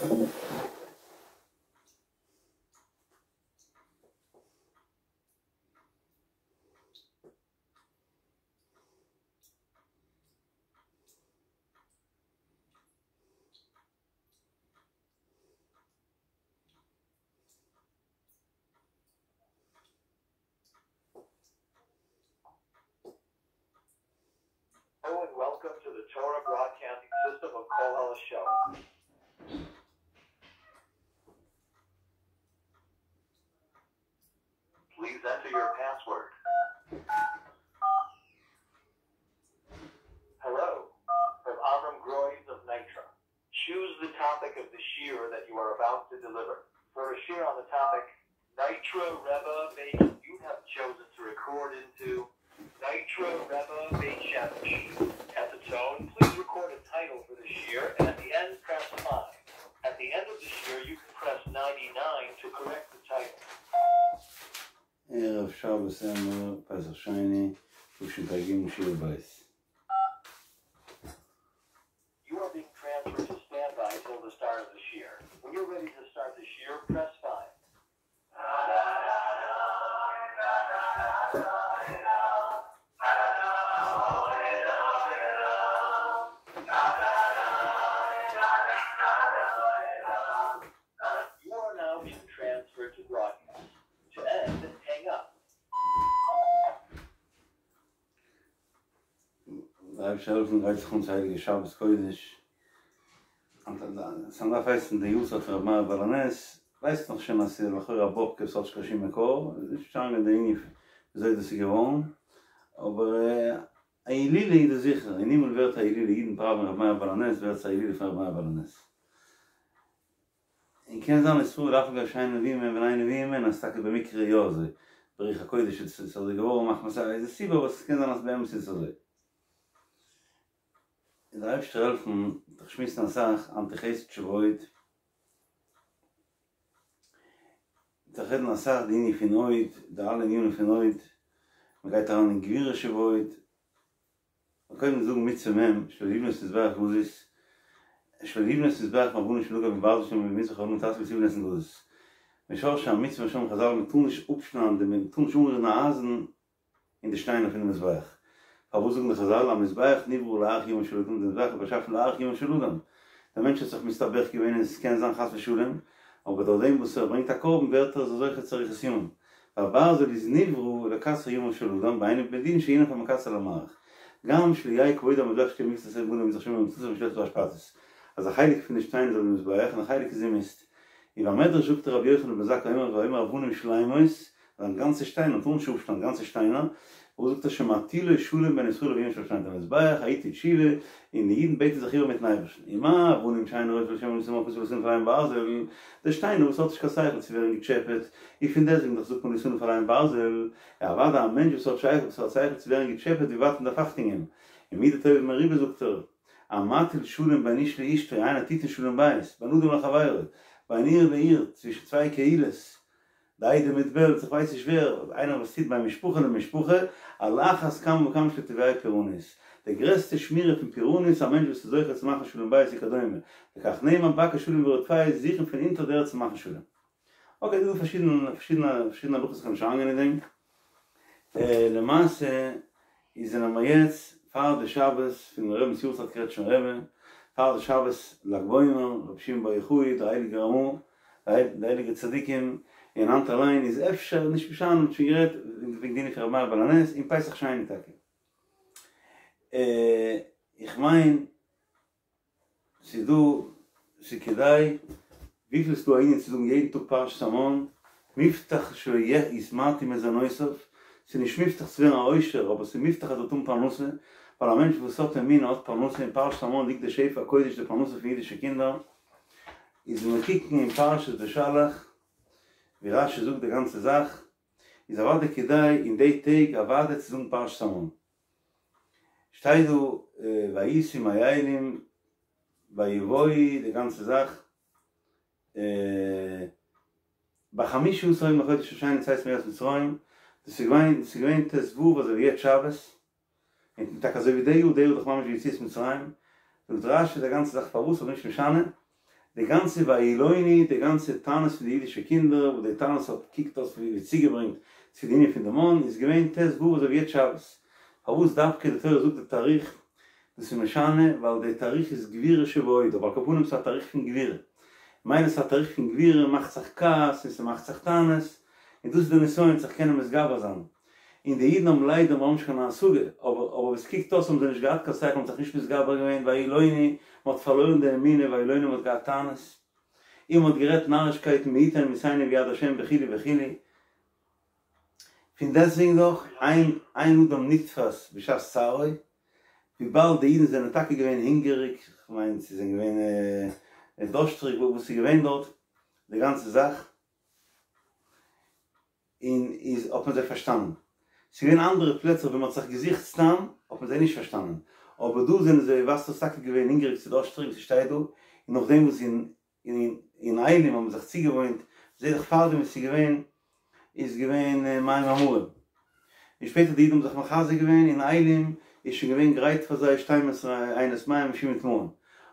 Hello and welcome to the Torah Broadcasting System of Kol Show. Please enter your password. Hello, from Avram Groys of Nitra. Choose the topic of the shiur that you are about to deliver. For a shiur on the topic, Nitra Rebbe Beit, you have chosen to record into Nitra Rebbe Beit Shemesh. At the tone, please record a title for the shiur, and at the end, press 5. At the end of the shiur, you can press 99 to correct the title. ערב שבת אמור פסח שני תשפ"ג שיעור בית. You are being transferred to standby till the start of the shiur. When you're ready to start the shiur, press 5. You are now being transferred to broadcast. To end, hang up. דער אייבערשטער זאל העלפן גרייט זיך אן צו הייליגע שבת קודש, ס'דארף הייסן די יארצייט פון רבי מאיר בעל הנס, ווייסט נאך שוין אז ס'איז לכאורה א באבקע וואס האט נישט קיין שום מקור, איז נישט פארשטאנען די ענין וויאזוי דאס איז געווארן, אבער א הילולא איז דאס זיכער, אין הימל ווערט א הילולא, אידן פראווען רבי מאיר בעל הנס ווערט עס א הילולא פון רבי מאיר בעל הנס. און קען זיין ישראל דארף מען גיין שיינע נביאים און בני נביאים און אז טאקע במקרה יא אזוי ברוח הקודש איז עס אזוי געווארן מחמת א איזה סיבה אבער ס'קען זיין אז באמת איז עס אזוי. און דער אייבערשטער העלפן דורך שמועסן אסאך אנטי חסד שבעוד דורך רעדן אסאך די ענין פון הוד די אלע ענינים פון הוד מ'גייט אריין אין גבורה שבעוד קודם זאגן מצוה מ' שלא לבנות מזבח גזית, שלא לבנות מזבח מאבנים של נגף וברזל שנאמר ובמזבח האבנים תעשה לא תבנה גזית. משרשי המצוה שאמרו חזל מען טאר נישט אפשניידן די מען טאר נישט אנרירן א אייזן אין די שטיינער פונעם מזבח. פארוואס זאגן די חזל המזבח נברא להאריך ימיו של אדם די מזבח איז באשאפן להאריך ימיו של אדם. דער מענטש האט זיך מסתבך געווען און עס קען זיין חס ושלום, אבער דורך דעם וואס ער ברענגט א קרבן ווערט ער זוכה צו אריכות ימים. והברזל איז נברא לקצר ימיו של אדם והיינו בדין שהנף המקצר למאריך. גם שלא יהא כבוד המזבח שתהיה מקצת אבנים במזבח שומר מצוות ושלט באשפתות. אז א חלק פון די שטיין איז אויף די מזבח און א חלק איז אין מיסט. ובמדרש זאגט רבי יוחנן בן זכאי אומר ואומר אבנים שלימות, זיין גאנצע שטיינער, מ'טאר נישט אפשניידן גאנצע שטיינער, וואס זאגט ער שמטילו שלום בין ישראל לאביהם שבשמים המזבח היתה תשובה, און די אידן בעטן זיך איבער מיטן אייבערשטן, ומה אבנים שאין ראש ולשון ולא תנף לא תניף עליהם ברזל, די שטיינער וואס האט נישט קיין שכל צו ווערן געטשעפעט, און פון דעסטוועגן דאך זאגט מען לא תניף עליהם ברזל, אוודאי א מענטש וואס האט שכל וואס האט שכל צו ווערן געטשעפעט ווי ווייט מען דארף אכטונג געבן, און מידה טובה מרובה זאגט ער, המטיל שלום בין איש לאשתו, איינער טוט אין שלום בית, בין אדם לחבירו, בין עיר לעיר, צווישן צוויי קהילות, די עדה מיט בעלז, איך ווייס נישט ווער, איינער וואס טוט בין משפחה למשפחה, על אחת כמה וכמה שלא תביאהו פורענות. די גרעסטע שמירה פון פורענות, א מענטש וואס איז זוכה צו מאכן שלום בית וכדומה, לכך נאמר בקש שלום ורדפהו, זוכן פון אונטער די ערד צו מאכן שלום. אקעי, דא איז דא פארשידענע פארשידענע פארשידענע הלכות איך וועל נישט אריינגיין אין דעם. למעשה איז זענען מיר יעצט פאר די שבת פון רבינ'ס יארצייט קרעטשניפער רבי, פאר די שבת לג בעומר, רבי שמעון בר יוחאי, דער הייליגער רמא, די הייליגע צדיקים, און היינט אליין איז אפשר נישט משנה, מ'האט שוין גערעדט וועגן די ענין פון רבי מאיר בעל הנס און פסח שני טאקע. איך מיין ס'איז דא, ס'איז כדאי, וויפיל ס'איז דא א ענין צו זאגן יעדן טאג פרשת המן, מובטח שיתמעטו מזונותיו, ס'איז נישט מובטח צו ווערן א עושר, אבער ס'איז מובטח אז ער וועט האבן פרנסה, ווייל א מענטש וואס האט אמונה האט פרנסה, אין פרשת המן ליגט די שפע הקודש די פרנסה פון אידישע קינדער, איז ווען מיר קוקן אין פרשת בשלח, ווי רשי זאגט די גאנצע זאך, איז אוודאי כדאי אין די טעג אוודאי צו זאגן פרשת המן. שטייט דא ויסעו מאילים ויבואו די גאנצע זאך בחמשה עשר יום לחודש השני לצאת מארץ מצרים, דאס איז געווען דאס איז געווען ט ו אזוי ווי יעצט שבת, און טאקע אזוי ווי די יאר, די יאר איז דאך ממש ווי יציאת מצרים, זאגט רש י די גאנצע זאך פארוואס אבער נישט משנה. די גאנצע וילונו, די גאנצע טענות פון די אידישע קינדער, וואס די טענות האט קוקט אויס ווי צוגעברענגט צו די ענין פון די מן, איז געווען ט"ו אזוי ווי יעצט שבת. פארוואס דווקא די תורה זאגט די תאריך? דאס איז משנה ווייל די תאריך איז גבורה שבהוד, אבער על כל פנים ס'איז א תאריך פון גבורה. מילא ס'איז א תאריך פון גבורה מאכט זיך כעס און ס'מאכט זיך טענות, און דאס איז די נסיון זיך קענען מתגבר זיין. און די אידן האבן ליידער מיר האבן נישט קיין השגה, אבער אבער ווי ס'קוקט אויס האבן זיי נישט געהאט קיין שכל, האבן זיך נישט מתגבר געווען, וילונו, מ'האט פארלוירן די אמונה, וילונו מ'האט געהאט טענות, און מ'האט גערעדט נארישקייטן מי יתן עמיתנו ביד השם וכו' וכו', פון דעסטוועגן דאך, אין אין אדם נתפס בשעת צערו, וויבאלד די אידן זענען טאקע געווען הונגעריג, כ'מיין זיי זענען געווען דארשטריג, וואס איז געווען דארט די גאנצע זאך. און איז האט מען זיי פארשטאנען. ס'איז געווען אנדערע פלעצער ווי מ'האט זיך געזוכט סתם האט מען זיי נישט פארשטאנען. אבער דא זענען זיי ווייזט אויס טאקע געווען הונגעריג צו דארשטריג ווי ס'שטייט דא, און נאכדעם וואס אין אין אין אילים האבן זיך צוגעוואוינט, זעה איך פארדעם וואס ס'איז געווען איז געווען מים המרים. און שפעטער די אידן האבן זיך מחזק געווען אין אילים איז שוין געווען גרייט פאר זיי שתים עשרה עינות מים ושבעים תמרים.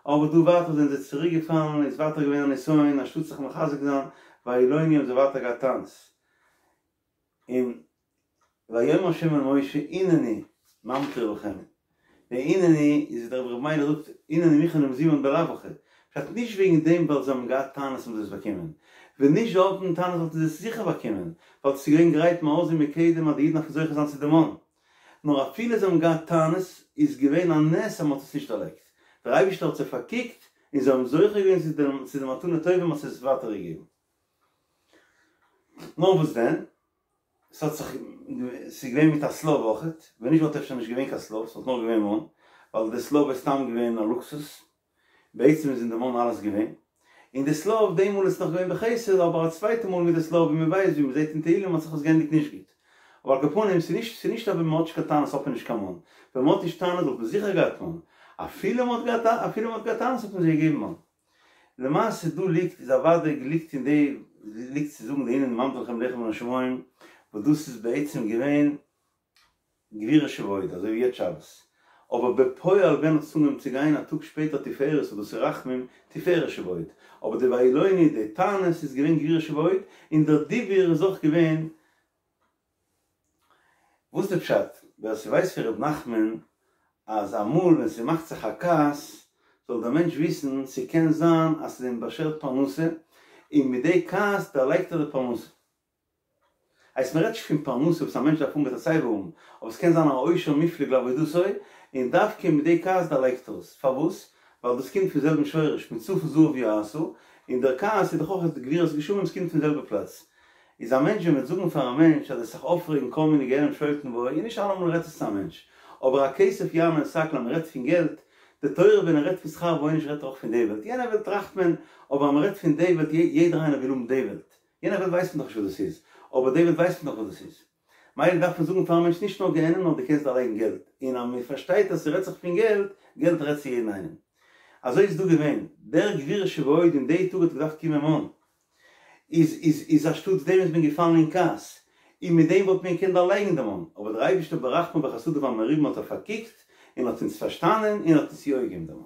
אבער דא ווייטער זענען זיי צוריק געפאלן איז ווייטער געווען א נסיון אנשטאט זיך מחזק זיין וילונו האבן זיי ווייטער געהאט טענות. און ויאמר ה' אל משה הנני ממטיר לכם. די הנני איז ווי דער רבי ר' מיילעך זאגט הנני מוכן ומזומן בלאו הכי, פשט נישט וועגן דעם ווייל זיי האבן געהאט טענות האבן זיי עס באקומען, ווען נישט זיי האבן טענות וואלטן זיי עס זיכער באקומען, ווייל עס איז געווען גרייט מאז ומקדם אז די אידן דארפן זוכה זיין צו די מן, נאר אפילו זיי האבן געהאט טענות איז געווען א נס אז מען האט עס נישט דערלייגט, דער אייבערשטער האט זיי פארקוקט און זיי האבן זוכה געווען צו די מתנה טובה מען האט עס ווייטער געגעבן. נאר וואס דען? ס'האט זיך, ס'איז געווען מיט א שליו אויכעט, ווען נישט וואלט אפשר נישט געווען קיין שליו, ס'וואלט נאר געווען מן, ווייל די שליו איז סתם געווען א לוקסוס, בעצם איז אין די מן אלעס געווען, און די שליו די מאל איז נאך געווען בחסד, אבער א צווייטע מאל מיט די שליו ווי מ'ווייסט ווי מ'זעט אין תהלים האט זיך עס געענדיגט נישט גוט. אבער על כל פנים ס'איז נישט ס'איז נישט אז ווען מ'האט נישט קיין טענות האט מען נישט קיין מן, ווען מ'האט נישט טענות וואלט מען זיכער געהאט מן, אפילו מ'האט געהאט אפילו מ'האט געהאט טענות האט מען זיי געגעבן מן. למעשה דא ליגט איז אוודאי ליגט אין די ליגט צו זאגן די הנני ממטיר לכם לחם מן השמים וואס דאס איז בעצם געווען גבורה שבהוד אזוי ווי יעצט שבת אבער בפועל ווען האט עס אנגעהויבן צו גיין א טאג שפעטער תפארת וואס דאס איז רחמים תפארת שבהוד אבער די וילונו די טענות איז געווען גבורה שבהוד און דער דיבור איז אויך געווען וואס די פשט? ווער ס'ווייסט פון ר' נחמן אז אמאל ווען ס'מאכט זיך א כעס זאל דער מענטש וויסן ס'קען זיין אז ס'איז אים באשערט פרנסה און מיט די כעס דערלייגט ער די פרנסה. הייסט מ'רעדט נישט פון פרנסה וואס א מענטש דארף האבן וועט ער סייווי האבן, אבער ס'קען זיין א עושר מופלג לעבודתו און דווקא מיט די כעס דערלייגט ער עס. פארוואס? ווייל דאס קומט פון זעלבן שורש, מצפון זהב יעשה, און דער כעס איז דאך אויך גבורת גשמים, ס'קומט פון זעלבע פלאץ. איז א מענטש ווען מ'וועט זאגן פאר א מענטש אז ער זיך אויפרעגן כל מיני גיהנום שולטים בו, און נישט אלעמאל רעדט עס צו א מענטש, אבער הכסף יענה את הכל אז מ'רעדט פון געלט, די תורה ווען ער רעדט פון שכר ועונש רעדט ער אויך פון די וועלט, יענע וועלט טראכט מען, אבער אז מ'רעדט פון די וועלט יעדער איינער וויל האבן די וועלט, יענע וועלט ווייסט מען דאך נישט וואס דאס איז, אבער די וועלט ווייסט מען דאך וואס דאס איז. מילא דארף מען זאגן פארן מענטש נישט נאר גיהנום נאר דו קענסט דערלייגן געלט, און אז מ'פארשטייט אז ס'רעדט זיך פון געלט, געלט רעדט צו יעדן איינעם. אזוי איז דא געווען, דער גבורה שבהוד אין די טאג האט געדארפט קומען מן, איז איז איז אנשטאטס דעם איז מען געפאלן אין כעס, און מיט דעם וואלט מען געקענט דערלייגן דעם מן, אבער דער אייבערשטער ברחמיו וחסדיו המרובים האט ער פארקוקט און האט אונז פארשטאנען און האט אונז יא געגעבן דעם מן.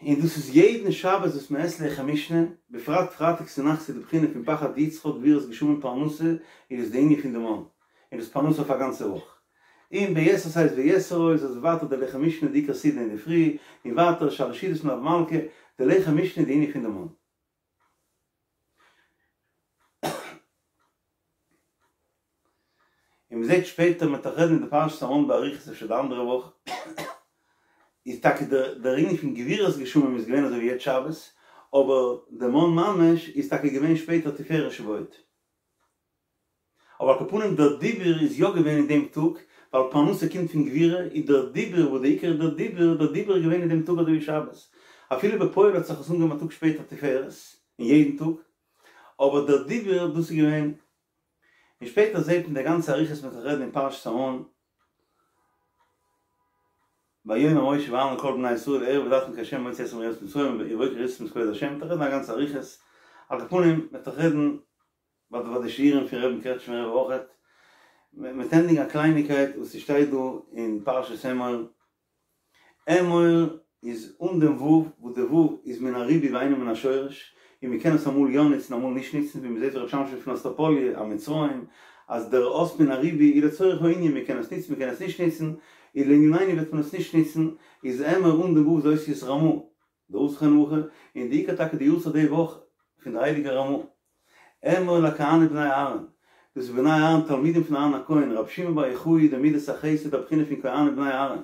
און דאס איז יעדן שבת וואס מען עסט לחם משנה, בפרט פרייטאג צונאכטס איז די בחינה פון פחד יצחק גבורת גשמים פרנסה, איז דאס די ענין פון די מן, און דאס פרנסה אויף א גאנצע וואך. און ביתר שאת ויתר עוז אז ווייטער די לחם משנה די עיקר סעודה אינדערפרי, און ווייטער שלש סעודות מלוה מלכה, די לחם משנה די ענין פון די מן. און מ'זעט שפעטער מ'וועט דאך רעדן אין די פרשת המן באריכות אפשר די אנדערע וואך, איז טאקע דער ענין פון גבורת גשמים איז געווען אזוי ווי יעצט שבת, אבער די מן ממש איז טאקע געווען שפעטער תפארת שבהוד. אבער על כל פנים דער דיבור איז יא געווען אין דעם טאג, ווייל פרנסה קומט פון גבורה, איז דער דיבור וואס די עיקר איז דער דיבור, דער דיבור איז געווען אין דעם טאג אזוי ווי שבת, אפילו בפועל האט זיך עס אנגעהויבן א טאג שפעטער תפארת, אין יעדן טאג, אבער דער דיבור דאס איז געווען, און שפעטער זעט מען די גאנצע אריכות מ'וועט רעדן אין פרשת המן, ויאמר משה ואהרן אל כל בני ישראל הערב ידעתם כי ה' הוציא אתכם מארץ מצרים ובבוקר וראיתם את כבוד ה', מ'וועט רעדן א גאנצע אריכות, על כל פנים מ'וועט דאך רעדן ביי די ביי די שיעורים פון רבי'ן קרעטשמער רב אויכעט, מ'וועט ענדיגן א קלייניקייט וואס ס'שטייט דא אין פרשת אמור, אמור איז אן דעם ו' וואס. וואס די ו' איז מן הריבוי ואינו מן השורש, און מ'קען עס אמאל יא נוצן אמאל נישט נוצן, ווי מ'זעט ר' שמשון פון אסטראפאליע, א מצרים, אז דער אות מן הריבוי איז לצורך הענין, מ'קען עס נוצן מ'קען עס נישט נוצן, און לענינינו וועט מען עס נישט נוצן, איז אמור אן דעם ו' איז אותיות רמ"א, דער אב זכרונו לברכה, און די עיקר טאקע די יארצייט די וואך פון דער הייליגער רמ"א. אמור לכהנים בני אהרן, דאס איז בני אהרן תלמידים פון אהרן הכהן, רבי שמעון בר יוחאי די מידת החסד די בחינה פון כהנים בני אהרן,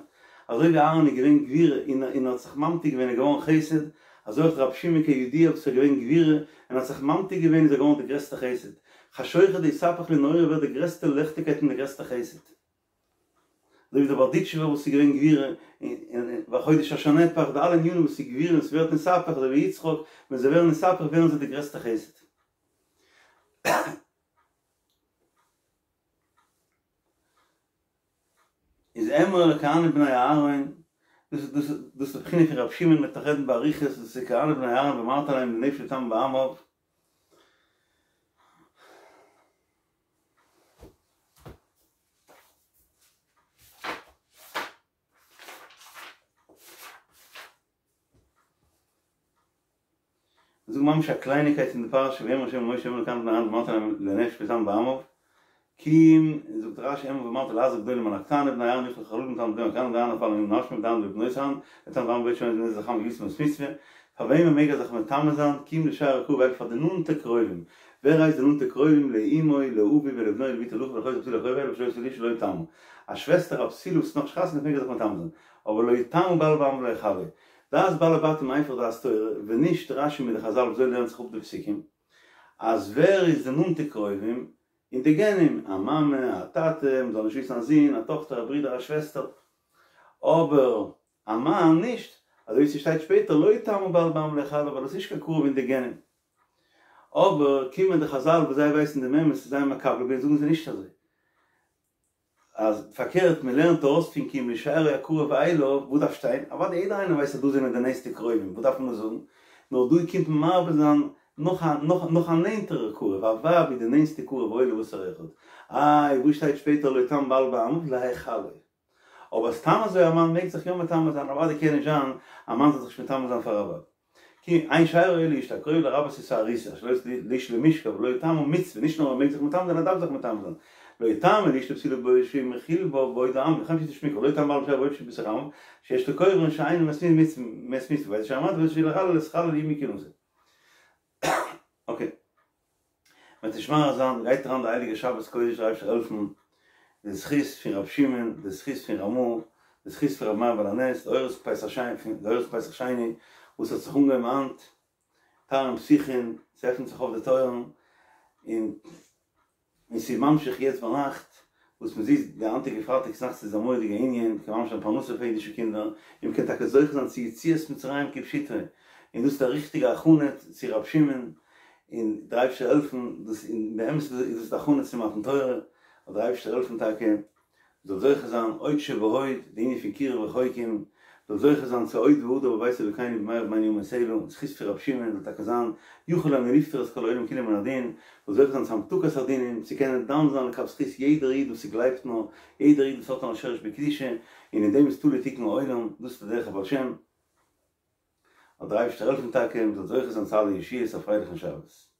אזוי ווי אהרן איז געווען גבורה און און האט זיך ממתיק געווען איז געווארן חסד, אזוי אויך רבי שמעון כידוע וואס איז געווען גבורה און האט זיך ממתיק געווען איז ער געווארן די גרעסטע חסד, חשוכא דאתהפך לנהורא ווערט די גרעסטע ליכטיגקייט און די גרעסטע חסד. אזוי ווי דער בארדיטשובער וואס איז געווען גבורה און והחודש אשר נהפך די אלע ענינים וואס איז גבורה און ס'ווערט נתהפך אזוי ווי יצחק ווען זיי ווערן נתהפך ווערן זיי די גרעסטע חסד. איז אמור לכהנים בני אהרן, דאס איז דאס איז די בחינה פון רבי שמעון מ'וועט נאך רעדן באריכות, דאס איז כהנים בני אהרן ואמרת אליהם לנפש לטמא בעמיו. זאג ממש א קלייניקייט אין די פרשה ויאמר ה' אל משה אמור לכהנים בני אהרן ואמרת אליהם לנפש לטמא בעמיו כי אם זאגט רש"י אמור ואמרת להזהיר גדולים על הקטנים בני אהרן יאכלו חללים לטמא בהם הכהנים בני אהרן אף על נפשם בני אהרן ובנות אהרן לטמא בעמיו בעוד שומעים את נזר החמה והגריתם מת מצוה פאר וועמען מעג ער זיך מטמא זיין כי אם לשארו הקרוב אליו פאר די נאנטע קרובים ווער הייסט די נאנטע קרובים לאמו לאביו ולבנו ולבתו ולאחיו ולאחותו הבתולה הקרובה אליו אשר לא עשו לאשה לא יטמא א שוועסטער א בתולה וואס איז נאך נישט חתונה מעג ער זיך מטמא זיין אבער לא יטמא בעל בעמיו להיכלו דעת בעלי בתים איינפאך דעת תורה, ווען נישט רש"י מיט די חז"ל וויאזוי לערנט זיך אפ די פסוקים, אז ווער איז די נאנטע קרובים אין די גנים, א מאמע, א טאטע, מ'זאל נישט וויסן א זון, א טאכטער, א ברודער, א שוועסטער, אבער א מאן נישט, אזוי ווי ס'שטייט שפעטער לא יטמא בעל בעמיו להיכלו ווייל עס איז נישט קיין קרוב אין די גנים. אבער קומען די חז"ל וואס זיי ווייסן דעם אמת און זיי מקבל געווען זאגן זיי נישט אזוי. אז פארקערט מען לערנט ארויס פון כי אם לשארו הקרוב אליו, וואס דארף שטיין? אוודאי יעדער איינער ווייסט אז דא זענען די נענסטע קרובים, וואס דארף מען דאס זאגן? נאר דא קומט מען מרבה זיין נאך א נאך נאך א נענטערער קרוב, א ווייב איז די נענסטע קרוב אולי לבשר אחד, איי וואס שטייט שפעטער לא יטמא בעל בעמיו להיכלו. אבער סתם אזוי א מאן מעג זיך יא מטמא זיין, אוודאי קען נישט זיין א מאן זאל זיך נישט מטמא זיין פאר א ווייב. כי אין שארו אלא אשתו הקרובה לרבות את הארוסה אשר לא עשו לאשה למשכב לא יטמא מצוה, נישט נאר ער מעג זיך מטמא זיין ער דארף זיך מטמא זיין, לא יטמא לאשתו הבתולה בעוד שהוא מכיל בה בעוד העם וכן פשיטא שמיקרא לא יטמא בעל בשארו בעוד שהוא בתוך עמיו שיש לקוברן שאינו מת מת מצוה ואיזהו שאר אמרת ואיזהו שיעור לחלל את חלל יהא מכהונתו. אקעי. מ'וועט נישט מאריך זיין, גייט אריין די הייליגע שבת קודש דער אייבערשטער העלפן, די זכות פון רבי שמעון, די זכות פון רמ"א, די זכות פון רבי מאיר בעל הנס, די אורות פסח שני, די אורות פסח שני וואס האט זיך אנגעהויבן היינט, תרעין פתיחין, ס'עפנט זיך אויף די טויערן, און און ס'איז ממשיך יעצט ביינאכט, וואס מ'זעט די היינטיגע פרייטאג צונאכטס איז א מורא'דיגע ענין, מ'קען ממש זיין פרנסה פאר אידישע קינדער, און מ'קען טאקע זוכה זיין צו יציאת מצרים כפשוטו, און דאס איז א ריכטיגע הכנה צו ר' שמעון, און דער אייבערשטער העלפן, דאס און באמת איז דאס די הכנה צו מתן תורה, זאל דער אייבערשטער העלפן טאקע מ'זאל זוכה זיין עוד שבעוד, די ענין פון קירוב רחוקים, מ'זאל זוכה זיין צו עוד והדר בבית אלוקינו במהרה בימינו אמן סלה, זכות פון רבי שמעון זאל טאקע זיין יכול אני לפטור את כל העולם כולו מן הדין, מ'זאל זוכה זיין צו המתקת הדינים, צו קענען דן זיין לכף זכות יעדער איד וואס ס'גלייבט נאר, יעדער איד וואס האט נאר א שרש בקדושה, און אין דעם איז תלוי תיקון העולם, דאס איז די דרך הבעל שם. זאל דער אייבערשטער העלפן טאקע מ'זאל זוכה זיין צו אלע ישועות, א פרייליכן שבת.